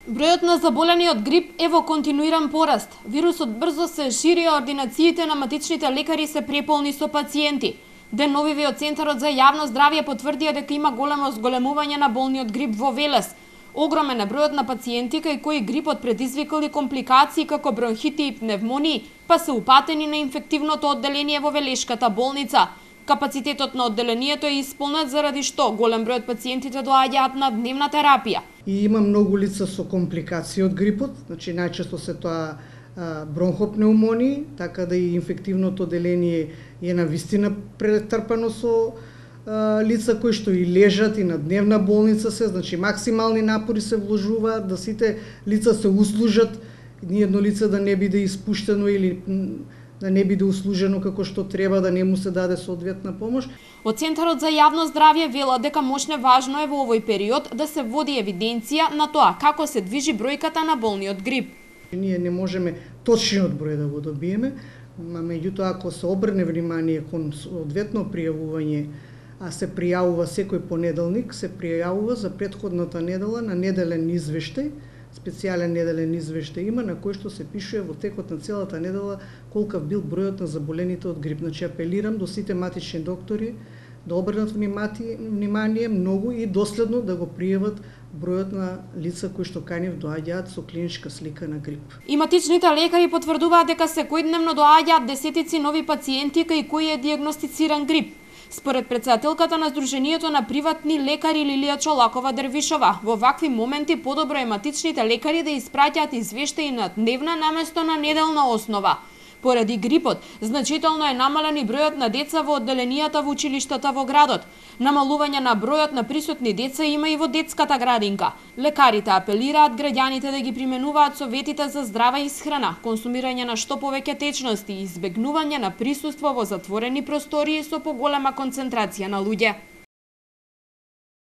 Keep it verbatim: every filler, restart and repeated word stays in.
Бројот на заболени од грип е во континуиран пораст. Вирусот брзо се шири, а ординациите на матичните лекари се преполни со пациенти. Деновиве од Центарот за јавно здравје потврдија дека има големо зголемување на болни од грип во Велес. Огромен е бројот на пациенти кај кои грипот предизвикали компликации како бронхити и пневмонии, па се упатени на инфективното одделение во Велешката болница. Капацитетот на одделението е исполнет заради што голем број од пациентите доаѓаат на дневна терапија. И има многу лица со компликации од грипот, значи најчесто се тоа бронхопнеумонии, така да и инфективното одделение е на вистина претрпано со а, лица кои што и лежат и на дневна болница се, значи максимални напори се вложуваат да сите лица се услужат, ни едно лице да не биде испуштено или да не биде услужено како што треба, да не му се даде соодветна помош. Од Центарот за јавно здравје велат дека мощне важно е во овој период да се води евиденција на тоа како се движи бројката на болни од грип. Ние не можеме точниот број да го добиеме, а меѓутоа ако се обрне внимание кон соодветно пријавување, а се пријавува секој понеделник, се пријавува за претходната недела на неделен извештај, специјален неделен извештај има на кој што се пишува во текот на целата недела колкав бил бројот на заболените од грип. Значи апелирам до сите матични доктори да обрнат внимание многу и доследно да го пријават бројот на лица кои што кај нив доаѓаат со клиничка слика на грип. И матичните лекари потврдуваат дека секојдневно доаѓаат десетици нови пациенти кај кои е дијагностициран грип. Според претседателката на Сдруженијето на приватни лекари Лилија Чолакова Дервишова, во вакви моменти подобро е матичните лекари да испраќаат извештаи на дневна наместо на неделна основа. Поради грипот, значително е намален и бројот на деца во одделенијата во училиштата во градот. Намалување на бројот на присутни деца има и во детската градинка. Лекарите апелираат граѓаните да ги применуваат советите за здрава исхрана, консумирање на што повеќе течности и избегнување на присуство во затворени простории со поголема концентрација на луѓе.